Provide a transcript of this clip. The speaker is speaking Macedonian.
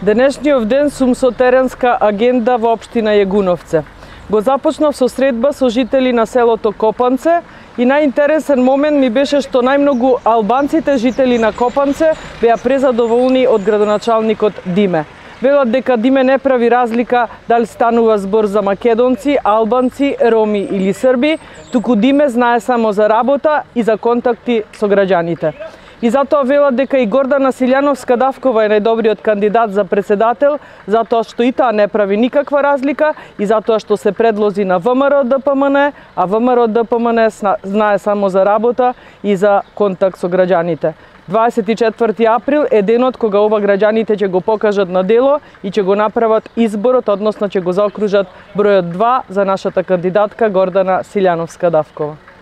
Денешниот ден сум со теренска агенда во општина Јегуновце. Го започнав со средба со жители на селото Копанце и најинтересен момент ми беше што најмногу албанците жители на Копанце беа презадоволни од градоначалникот Диме. Велат дека Диме не прави разлика дали станува збор за македонци, албанци, роми или срби, туку Диме знае само за работа и за контакти со граѓаните. И затоа велат дека и Гордана Силјановска-Давкова е најдобриот кандидат за председател, затоа што и таа не прави никаква разлика и затоа што се предлози на ВМРО-ДПМН, а ВМРО-ДПМН знае само за работа и за контакт со граѓаните. 24 април е денот кога ова граѓаните ќе го покажат на дело и ќе го направат изборот, односно ќе го заокружат бројот 2 за нашата кандидатка Гордана Силјановска-Давкова.